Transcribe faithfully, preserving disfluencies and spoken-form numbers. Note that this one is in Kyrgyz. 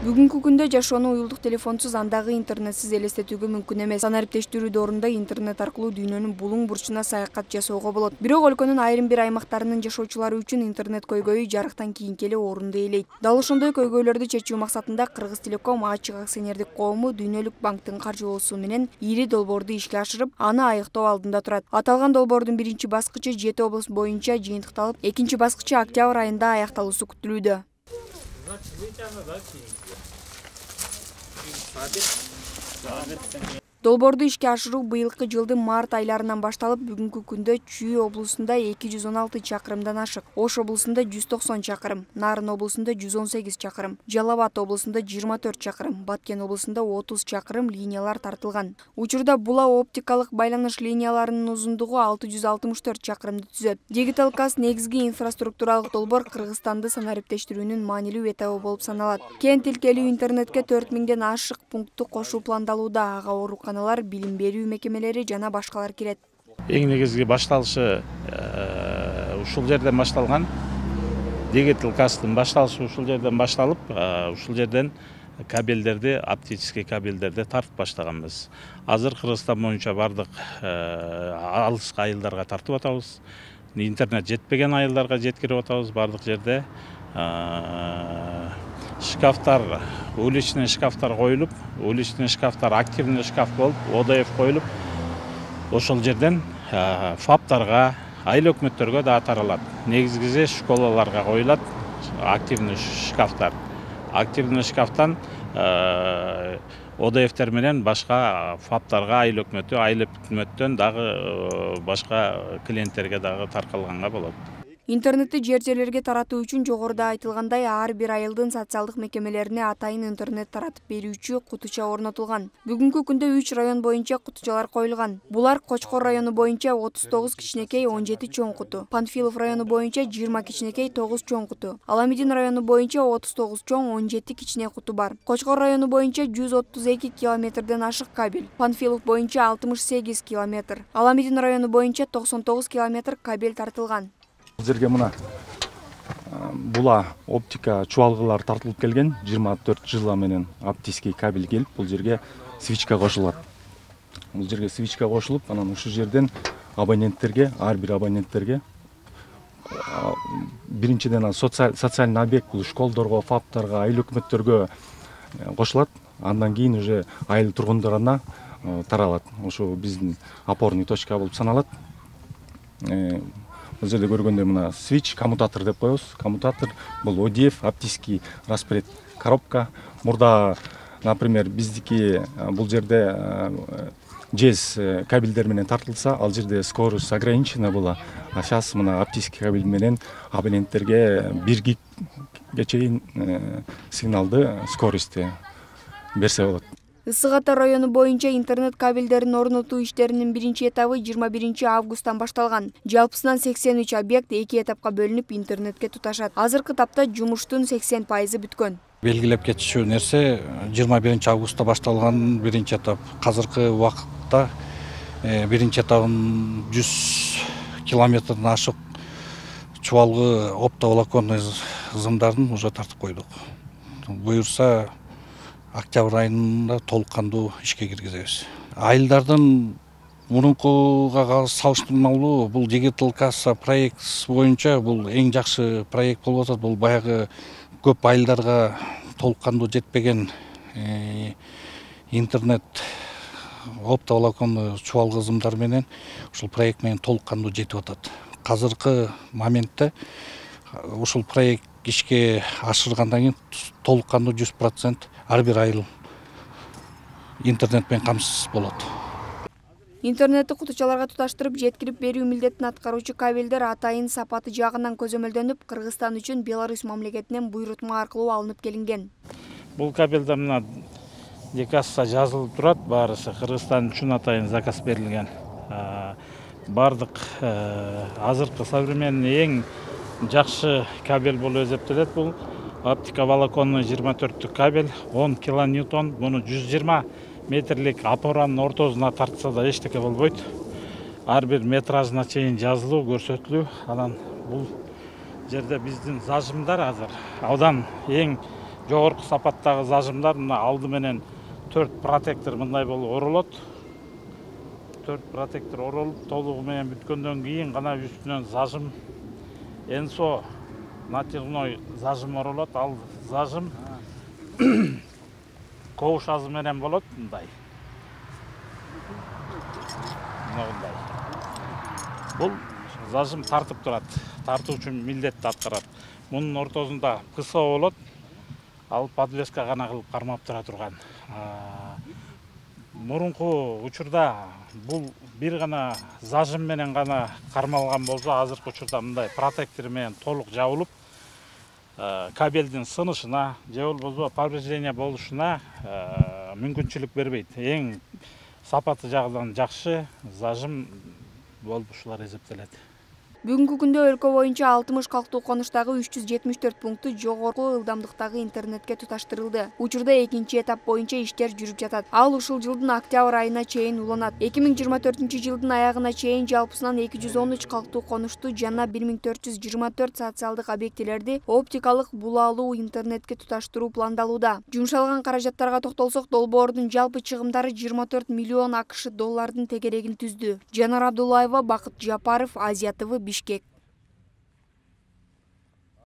Бүгүнкү күндө жашоону уюлдук телефонсуз андагы интернетсиз элестетүүгө мүмкүн эмес. Санариптештирүү доорунда интернет аркылуу дүйнөнүн булуң бурчуна саякат жасоого болот. Бирок өлкөнүн айрым бир аймактарынын жашоочулары үчүн интернет көйгөйү жарыктан кийинки эле орунду ээлейт. Дал ошондой көйгөйлөрдү чечүү максатында Кыргызтелеком ачык акционердик коому Дүйнөлүк банктын каржылоосу менен ири долбоорду ишке ашырып, аны аыктоо алдында турат. Аталган долбоордун биринчи баскычы жети област боюнча жыйынтыкталып, экинчи баскычы октябрь айында аякталуусу күтүлүүдө. Долбоорду ишке ашыруу быйылкы жылдын март айларынан башталып, бүгүнкү күндө Чүй облусунда эки жүз он алты чакырымдан ашык, Ош облусунда жүз токсон чакырым, Нарын облусунда жүз он сегиз чакырым, Жалал Абад облусунда жыйырма төрт чакырым, Баткен облусунда отуз чакырым линиялар тартылган. Учурда була оптикалык байланыш линияларынын узундугу алты жүз алтымыш төрт чакырымды түзөт. Digital Cast негизги инфраструктуралык долбоор Кыргызстанды санариптештирүүнүн маанилүү этабы болуп саналат. Кең тилкелүү интернетке төрт миңден ашык пунктту кошуу пландалууда, ага ооруканалар, билим берүү мекемелери жана башкалар кирет. Эң негизги башталышы ушул жерден башталган. Digital Cast'ын башталышы ушул жерден башталып, ушул жерден кабелдерди, оптический кабелдерди тартып баштаганбыз. Азыр Кыргызстан боюнча бардык алыс айылдарга тартып атабыз. Интернет жетпеген айылдарга жеткирип атабыз. Бардык жерде шкафтар, уличный шкафтар коюлуп, уличный шкафтар активный шкаф болуп, о дэ эф коюлуп, ошол жерден фаптарга, айыл өкмөттөргө да таралат. Негизгиси школаларга коюлат активный шкафтар. Активный шкафтан о дэ эфтер менен башка фаптарга, айыл өкмөтү, айыл өкмөттөн дагы башка клиенттерге дагы таркалганга болот. Интернетти жер жерлерге таратуу үчүн жогоруда айтылгандай ар бир айылдын социалдык мекемелерине атайын интернет таратып берүүчү кутуча орнотулган. Бүгүнкү күндө үч район боюнча кутучалар коюлган. Булар Кочкор району боюнча отуз тогуз кичинекей, он жети чоң куту, Панфилов району боюнча жыйырма кичинекей, тогуз чоң куту, Аламидин району боюнча отуз тогуз чоң, он жети кичине куту бар. Кочкор району боюнча жүз отуз эки километрден ашык кабель, Панфилов боюнча алтымыш сегиз километр, Аламидин району боюнча токсон тогуз километр кабель тартылган. Бул жерге мына була оптика чубалгылар тартылып келген, жыйырма төрт жыла менен оптический кабель келип, бул жерге свичка кошулат. Бул жерге свичка кошулуп, анан ушул жерден абоненттерге, ар бир абоненттерге биринчиден социалдык объект, бул школдорго, фаптарга, айыл өкмөттөргө кошулат. Андан кийин уже айыл тургундарына таралат. Ошо биздин опорный точка болуп саналат. Бул жерде көргөндөй мына свич, коммутатор деп коебуз. Коммутатор бул о дэ эф, оптический распред коробка. Мурда, например, биздики бул жерде жез кабелдер менен тартылса, ал жерде скорость ограничена была. А сейчас мына оптический кабель менен абоненттерге бир гигге чейин сигналды скоростьте берсе болот. Ысык Ата району боюнча интернет кабелдерин орнотуу иштеринин биринчи этабы жыйырма биринчи августтан башталган. Жалпысынан сексен үч объект эки этапка бөлүнүп интернетке туташат. Азыркы тапта жумуштун сексен пайызы бүткөн. Белгилеп кетишүү нерсе жыйырма биринчи августта башталган биринчи этап. Азыркы убакытта биринчи этабын жүз километрден ашык чубалгы оптоволоконный зымдарын уже тартып койдук. Буюрса октябрь айында толук кандуу ишке киргизебиз. Айылдардын мурункуга салыштырмалуу бул Digital Cast проект боюнча бул эң жакшы проект болуп атат. Бул баягы көп айылдарга толук кандуу жетпеген интернет оптоволоконный чубалгы зымдар менен ушул проект менен толук кандуу жетип атат. Азыркы моментте ушул проект ишке ашыргандан кийин толук кандуу жүз процент ар бир айыл интернет менен камсыз болот. Интернетти кутучаларга туташтырып жеткирип берүү милдетин аткаруучу кабелдер атайын сапаты жагынан көзөмөлдөнүп, Кыргызстан үчүн Беларусь мамлекетинен буйрутма аркылуу алынып келинген. Бул кабелде мына декасса жазылып турат, баарысы Кыргызстан үчүн атайын заказ берилген. Бардык азыркы современный эң жакшы кабель болуп эсептелет. Бул оптиковолоконный жыйырма төрттүк кабель, он килоньютон, муну жүз жыйырма метрлик опоранын ортосуна тартса да эчтеке болбойт. Ар бир метражына чейин жазылуу, көрсөтүлүү. Анан бул жерде биздин зажимдар азыр. Аудан эң жогорку сапаттагы зажимдар мына алды менен төрт протектор мындай болуп оролот. төрт протектор оролуп толугу менен бүткөндөн кийин гана үстүнөн зажим энсо натяжной зажим оролот. Ал зажим ковш азы менен болот мындай. Мындай. Бул зажим тартып турат. Тартуу үчүн милдетти аткарат. Мунун ортосунда ПСО болот. Ал подвеска гана кылып кармап тура турган. Мурунку учурда бул бир гана зажим менен гана кармалган болсо, азыркы учурда мындай протектор менен толук жабылып, кабелдин сынышына же болбосо повреждение болушуна мүмкүнчүлүк бербейт. Эң сапаты жагынан жакшы зажим болуп ушулар эсептелет. Бүгүнкү күндө өлкө боюнча алтымыш калктуу конуштагы үч жүз жетимиш төрт пункту жогорку ылдамдыктагы интернетке туташтырылды. Учурда экинчи этап боюнча иштер жүрүп жатат. Ал ушул жылдын октябрь айына чейин уланат. эки миң жыйырма төртүнчү жылдын аягына чейин жалпысынан эки жүз он үч калктуу конушту жана бир миң төрт жүз жыйырма төрт социалдык объектилерди оптикалык булаалуу интернетке туташтыруу пландалууда. Жумшалган каражаттарга токтолсок, долбоордун жалпы чыгымдары жыйырма төрт миллион акш доллардын тегерегин түздү. Жанар Абдуллаева, Бакыт Жапаров, Азия ТВ, Бишкек.